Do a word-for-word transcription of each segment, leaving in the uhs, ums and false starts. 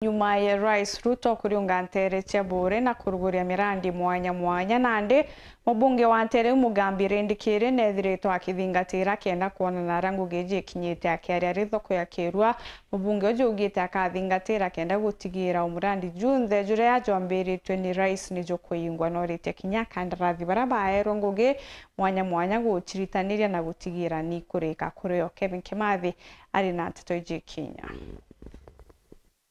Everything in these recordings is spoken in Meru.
Nyuma ya Rais Ruto kuriunga nteere cia Buuri na kuruguria mirandi mwanya mwanya, nandi mubunge wa nteere iu Mugambi Rindikiri neethiritwe akithingatira kenda kwonana aria ngugi iji ikinyite. Akiaria ari thoko ya Kirua, mubunge uju augite akathingatira kenda gutigira umurandi junthe juria jwambiritwe ni Rais ni jukuingwa, na uritie kinya akandarathi baria baerwe ngugi mwanya mwanya guciritaniria na gutigira ni kurika kurio. Kevin Kimathi ari na nteto iji ikinya.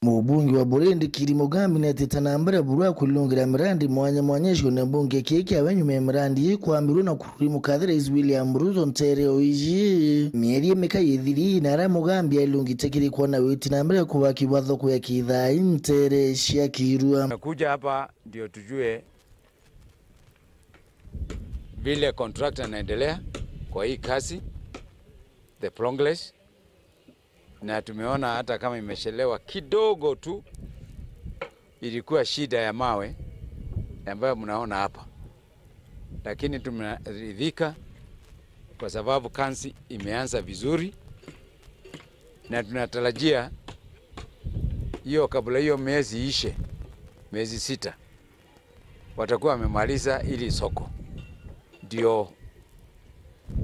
Mubunge wa Buuri Rindikiri Mugambi neetite na mbere buru ya kurirungira mirandi mwanya mwanya gicigoone mbunge kii kiawe nyuma ya mirandi ii kwambirua na kururi mukathi Rais William Ruto nteere o iji. Mieri imikai ithiri na aria Mugambi arirungite kiri kwona witi na mbere kubakirwa thoko ya Kithai nteere cia Kirua. Tumekuja hapa ndio tujue vile contractor anaendelea kwa hii kazi, the progress. Na tumeona hata kama imechelewa kidogo tu, ilikuwa shida ya mawe ambayo mnaona hapa, lakini tumeridhika kwa sababu kazi imeanza vizuri, na tunatarajia hiyo, kabla hiyo miezi ishe, miezi sita, watakuwa wamemaliza ili soko, ndio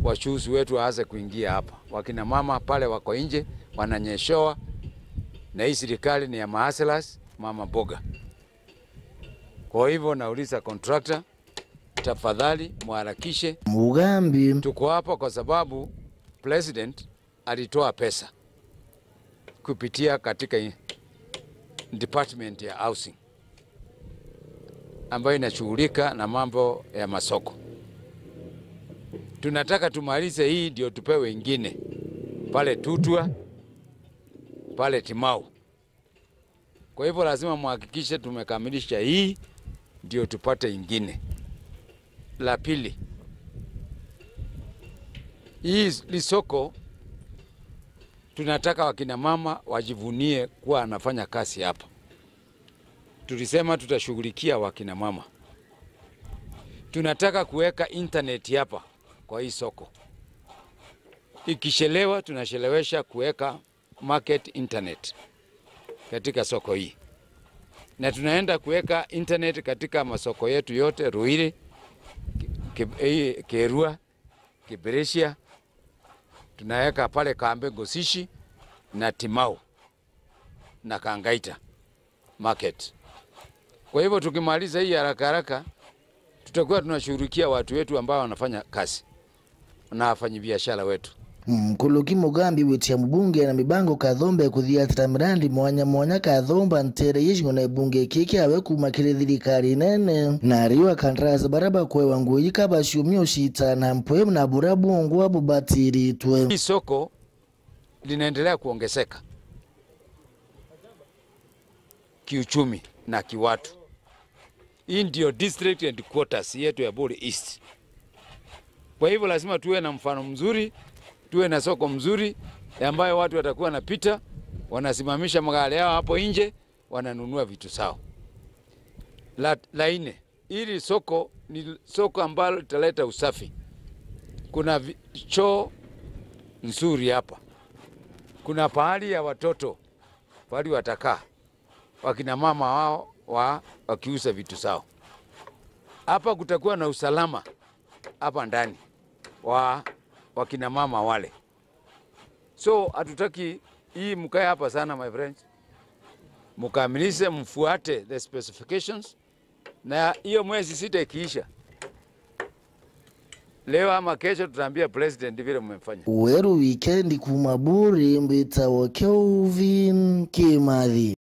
wachuuzi wetu waanze kuingia hapa. Wakina mama pale wako nje wananyeshewa, na hii serikali ni ya mahustlers, mama mboga. Kwa hivyo nauliza contractor, tafadhali muharakishe. Mugambi. Tuko hapa kwa sababu president alitoa pesa kupitia katika i-, department ya housing ambayo inashughulika na mambo ya masoko. Tunataka tumalize hii ndio tupewe ingine pale Tutwa, pale Timau. Kwa hivyo lazima muhakikishe tumekamilisha hii ndio tupate ingine. La pili, hii soko tunataka wakina mama wajivunie kuwa anafanya kazi hapa. Tulisema tutashughulikia wakina mama. Tunataka kuweka internet hapa kwa hii soko. Ikichelewa, tunachelewesha kuweka market internet katika soko hii. Na tunaenda kuweka internet katika masoko yetu yote, Ruiri, Ki-, Ki-, eh, Kirua, Kibirichia, tunaweka pale Kambe Ngosishi na Timau na Kangaita market. Kwa hivyo tukimaliza hii haraka haraka, tutakuwa tunashughulikia watu wetu ambao wanafanya kazi na wafanyabiashara wetu. Nkuruki Mugambi gwitia mubunge na mibango Kathomba kuthiatira mirandi mwanya mwanya Kathomba nteere iji na ibunge kiki awe kuuma kiri thirikari nene, na ariwa kandarasi baria bakwewa ngugi ikabaciumia ucita na mpwe na buria bungwa bubatiritwe. Hii soko linaendelea kuongezeka kiuchumi na kiwatu. Hii ndio district headquarters yetu ya Buuri East. Kwa hivyo lazima tuwe na mfano mzuri, tuwe na soko mzuri ambayo watu watakuwa wanapita, wanasimamisha magari yao hapo nje, wananunua vitu zao. La, la nne, hili soko ni soko ambalo litaleta usafi. Kuna vi-, choo nzuri hapa. Kuna pahali ya watoto, pahali watakaa, wakina mama wao wa, wakiuza vitu zao. Hapa kutakuwa na usalama hapa ndani wa wakina mama wale. So, hatutaki hii mkae hapa sana, my friends. Mkamilishe, mfuate the specifications. Na hiyo mwezi sita ikiisha, leo ama kesho tutaambia president vile mmefanya. Weru wikendi kuuma Buuri, mbitawa Kelvin Kimathi.